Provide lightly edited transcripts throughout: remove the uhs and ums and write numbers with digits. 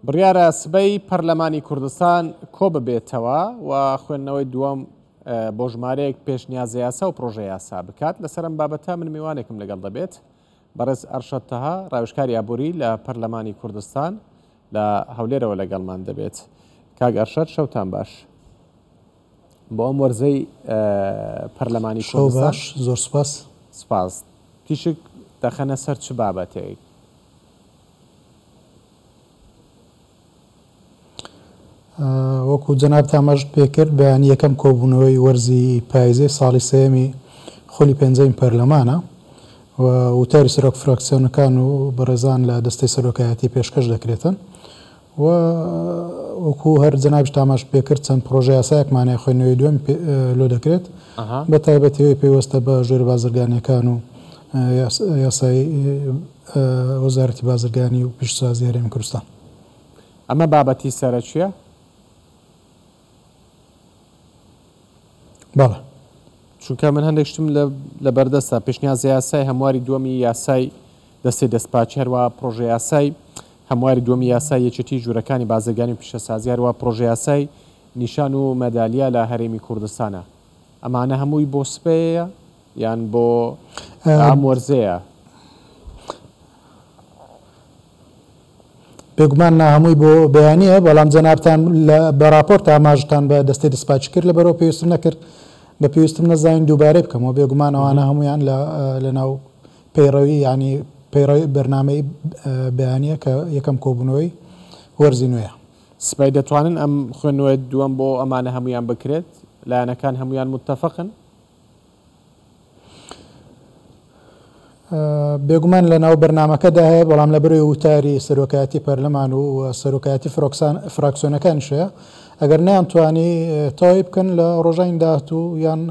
بڕیارە سبەی پەرلەمانی کوردستان کۆببێتەوە و خوێندنەوەی دووەم بۆ ژمارەیەک پێشنیازە یاسا و پرۆژە یاسا بکات. لەسەر ئەم بابەتە من میوانێکم لەگەڵ دەبێت، بەڕێز ئەرشەد تەها، ڕاوێژکاری ئابووری لە پەرلەمانی کوردستان لە هەولێرەوە لەگەڵمان دەبێت. کاک ئەرشەد شەوتان باش. بۆ ئەم وەرزەی پەرلەمانی شەو کوردستان باش، زۆر سوپاس. سوپاس. تیشک دەخەنە سەر چ بابەتێک؟ وەکو جەنابت ئاماژت پێکرد بەیانی یەکەم کۆبوونەوەی وەرزی پایزەی ساڵی سێیەمی خولی پێنجەمی پەرلەمانە و وتاری سەرۆک فراکسیۆنەکان و بەڕێزان لە دەستەی سەرۆکایەتی پێشکەش دەکرێتن و وەکو هەر جەنابیشت ئاماژت پێکرد چەند پرۆژە یاسایەکمان هەیە خوێندنەوەی دووەم لۆ دەکرێت بە تایبەتی ئەوەی پەیوەستە بە ژوورە بازرگانیەکان و یاسای وەزارەتی بازرگانی و پیشەسازی هەرێمی کوردستان. ئەمە بابەتی سەرەکیە؟ بەڵێ. چونکە من هەندێک شتم لە بەردەستە، پێشنیازە یاسای هەمواری دووەمی یاسای دەستەی دەستپاکی، هەروەها پڕۆژە یاسای هەمواری دووەمی یاسای یەکێتی ژوورەکانی بازرگانی و پیشەسازی، هەروەها پڕۆژە یاسای نیشان و مەدالیا لە هەرێمی کوردستانە. ئەمانە هەمووی بۆ سبەیە یان بۆ ئەم وەرزەیە؟ بێگومان نا هەمووی بۆ بەیانییە، بەڵام جەنابتان لە بە ڕاپۆرت ئاماژەتان بە دەستەی دەستپاکی کرد، لەبەرئەوە پێویستم نەکرد بە پێویستم نەزانین دووبارەی بکەمەوە، بێگومان ئەوانە هەموویان لە لەناو پەیڕەوی یانی پەیڕەوی بەرنامەی بەیانییە کە یەکەم کۆبوونەوەی وەرزی نوێیە. سبەی دەتوانن ئەم خوێندنەوەی دووەم بۆ ئەمانە هەموویان بکرێت؟ لایەنەکان هەموویان متەفقن؟ بێگومان لە ناو بەرنامەکەدا هەیە، بەڵام لە بەرەوەی وتاری سەرۆکایەتی پەرلەمان و سەرۆکایەتی فراکسیۆنەکانیش هەیە، ئەگەر نەیانتوانی تەواوی بکەن لە ڕۆژانی داهاتوو یان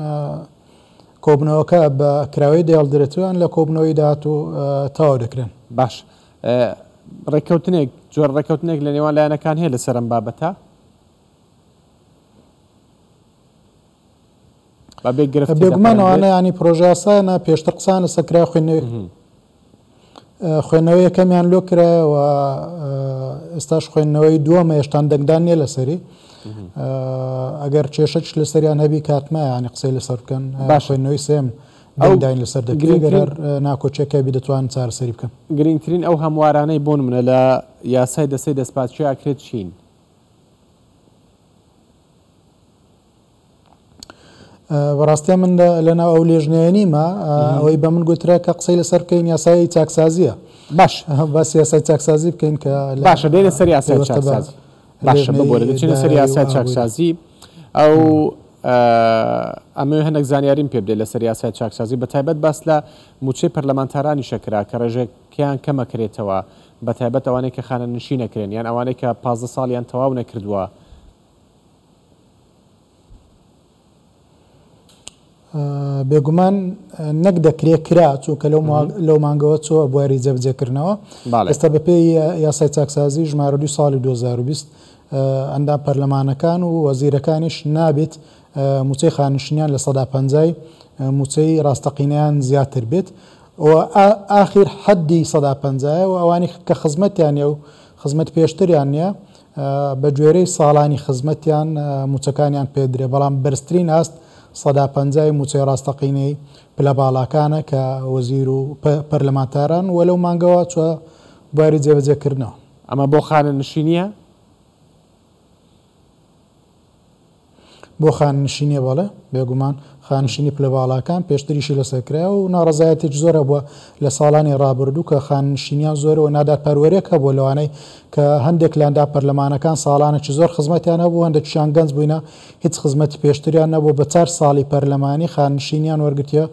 کۆبوونەوەکە بە کراوەیی دەهێڵدرێتەوە یان لە کۆبوونەوەی داهاتوو تەواو دەکرێن. باش ڕێککەوتنێک جۆرە ڕێککەوتنێک لە نێوان لایەنەکان هەیە لەسەر ئەم بابەتە؟ بەبێ گرفت بێگومان ئەوانە ینی پرۆژاسانە پێشتر قسان لەسەر کرا خوێندنەوەی خوێندنەوەی یەکەمیان لۆ کرایەوە ئێستاش خوێندنەوەی دووەمە هێشتان دەنگدان نییە لەسەری ئەگەر کێشەش لەسەریان هەبی کاتمە ینی قسەی لەسەر بکەن باش خوێندنەوەی سێم دەنگداین لەسەر دەکرێت گەر ناکۆکیەکە بی دەتوانن چارەسەری بکەن. گرنگترین ئەو هەموارانەی بۆ نمونە لە یاسای دەستەی دەستپاکی ئەکرێت چین؟ بەڕاستە من لەناو ئەو لێژنەیە نیمە ئەوەی بە من گوترا کە قسەی لەسەر بکەین یاسای چاکسازیە باش باس یاسای چاکسازی بکەین کە باشە دێنە سەر یاسای چاکسازی باشە ببۆرە دەچینە سەر یاسای چاکسازی ئەو ئەمەوێ هەندێک زانیاریم پێ بدەیت لەسەر یاسای چاکسازی بە تایبەت باس لە موچەی پەرلەمانتارانی شەکرا کە ڕێژەکەیان کەمەکرێتەوە بە تایبەت ئەوانەی کە خانەنشین نەکرێن یان ئەوانەی کە 15 ساڵیان تەواو نەکردووە. بێگومان نەک دەکرێ کرا چونکە لەو مانگەوە چۆ بواری جێبەجێکردنەوە ئێستا بەپێی یاسای چاکسازی ژمارە دوو ساڵی 2020 ئەندام پەرلەمانەکان و وەزیرەکانیش نابێت موچەی خانشینیان لە سەدا پەنجای موچەی ڕاستەقینەیان زیاتر بێت و ئاخیر حەدی سەدا پەنجایە و ئەوانی کە خزمەتیان نیە و خزمەت پێشتریان نیە بە گوێرەی ساڵانی خزمەتیان مووچەکانیان پێدرێ، بەڵام بەرزترین ئاست سەدا پەنجای مووچەی ڕاستەقینەی پلە باڵاکانە کە وەزیر و پەرلەمانتاران و لەو مانگەوە چووە بواری جێبەجێکردنەوە. ئەمە بۆ خانەنشینییە؟ بۆ خانەنشینیە بەڵێ بێگومان خانشینی پلە باڵاکان پێشتریشی لەسەر کرا و ناڕەزایەتێکی زۆر هەبووە لە ساڵانی ڕابردوو کە خانەنشینیان زۆرە و نادادپەروەرێک هەبووە لەوانەی کە هەندێک لە ئەندام پەرلەمانەکان ساڵانێکی زۆر خزمەتیان هەبوو هەندێکیشیان گەنج بووینە هیچ خزمەتی پێشتریان نەبووە بە چار ساڵی پەرلەمانی خانەنشینیان وەرگرتیە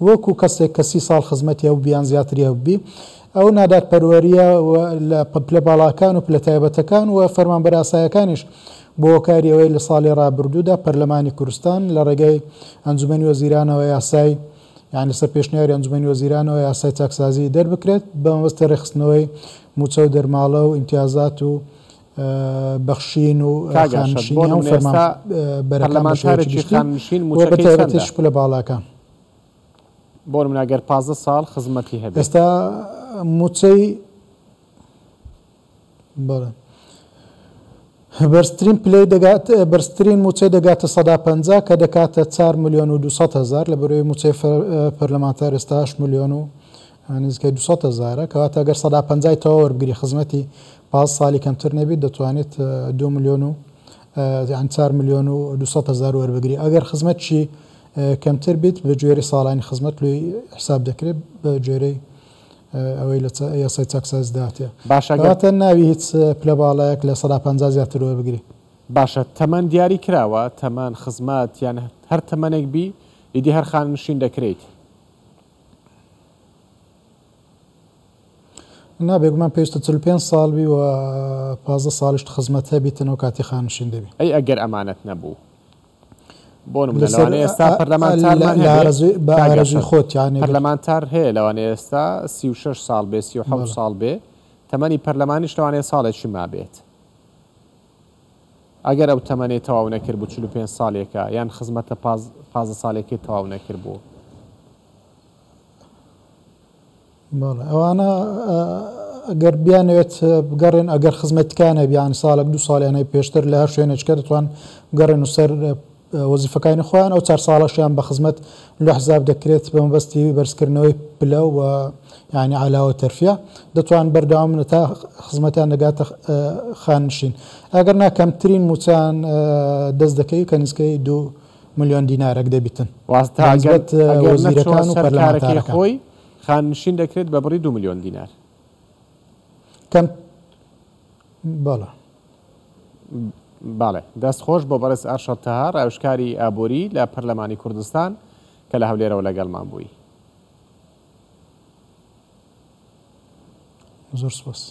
وەکو کەسێک کە 30 ساڵ خزمەتی هەبوو یان زیاتری هەبووبی ئەو نادادپەروەریە لە پلە باڵاکان و پلە تایبەتەکان و فەرمانبەرە ئاسایەکانیش بۆ هۆکاری ئەوەی لە ساڵی ڕابردوودا پەرلەمانی کوردستان لە ڕێگەی ئەنجومەنی وەزیرانەوە یاسای یان لەسەر پێشنیاری ئەنجومەنی وەزیرانەوە یاسای چاکسازی دەربکرێت بە مەبەستی ڕێکخستنەوەی مووچە و دەرماڵە و ئیمتیازات و بەخشین و کاک ئەرشەد، بۆ خانەنشینی هەموو نمونە ئێستا فەرمانبەرەکان بە شێوەیەکی پەرلەمانتارێکی گشتی خانەنشین و بە مووچەکەی تایبەتیش چەندە؟ پلە باڵاکان. بۆ نمونە گەر 15 ساڵ خزمەتی هەبێت. ئێستا مووچەی بەڵێ. بەرزترین پلەی دەگات بەرزترین مووچەی دەگاتە 50% کە دەکاتە 4 ملیۆن و 200 هەزار لە بەرەوەی مووچەی پەرلەمانتار ئێستا 8 ملیۆن و نزیکەی 200 هەزارە کەواتە گەر 50% تەواو وەربگری خزمەتی 15 ساڵی کەمتر نەبیت دەتوانێت 2 ملیۆن و یان 4 ملیۆن و 200 هەزار وەربگری ئەگەر خزمەتشی کەمتر بیت بە گوێرەی ساڵانی خزمەت لۆی حساب دەکرێت بە گوێرەی ئەوەی لە یاسای چاکسازیدا هاتیە. باشە گەر. کەواتە ناوی هیچ پلە باڵایەک 50% زیاتر وەربگری. باشە تەمەن دیاری کراوە؟ تەمەن، خزمەت یان هەر تەمەنێک بی ئیدی هەر خانەنشین دەکرێیت؟ نا بێگومان پێویستە 45 ساڵ بی و 15 ساڵیشت خزمەت هەبیتن ئەو کاتی خانەنشین دەبی. ئەی ئەگەر ئەمانەت نەبوو؟ بۆ نمونە لەوانەیە ئێستا پەرلەمانتارمان هەبێ بە ئارەزووی خۆت یانی پەرلەمانتار هەیە لەوانەیە ئێستا 36 ساڵ بێ 37 ساڵ بێ تەمەنی پەرلەمانیش لەوانەیە ساڵێکی مابێت ئەگەر ئەو تەمەنەی تەواو نەکرد بوو 45 ساڵێکە یان خزمەتە 15 ساڵێکی تەواو نەکرد بوو. بەڵێ ئەوانە گەر بیانەوێت بگەڕێن ئەگەر خزمەتکان هەبی یان ساڵێک دوو ساڵیان هەیە پێشتر لە هەر شوێنێکە دەتوان بگەڕێن و سەر وەزیفەکانی خۆیان ئەو چار ساڵەشیان بە خزمەت لە حساب دەکرێت بە مەبەستی بەرزکردنەوەی پلە و یعنی علاوە تەرفیە دەتوان بەردەوام تا خزمەتیان دەگاتە خانشین ئەگەر نا کەمترین موچان دەست دەکەوی کە نزیکەی دو ملیۆن دینارێک دەبیتن واتە ئەگەر وەزیرەکان و پەرلەمانتارەکان خۆی خاننشین دەکرێت بە بڕی 2 ملیۆن دینار. کەم بەڵێ. بەڵێ دەست خۆش بۆ بەڕێز ئارشەد تەها ڕاوێژکاری ئابووری لە پەرلەمانی کوردستان کە لە هەولێرەوە لەگەڵمان بووی. زۆر سپاس.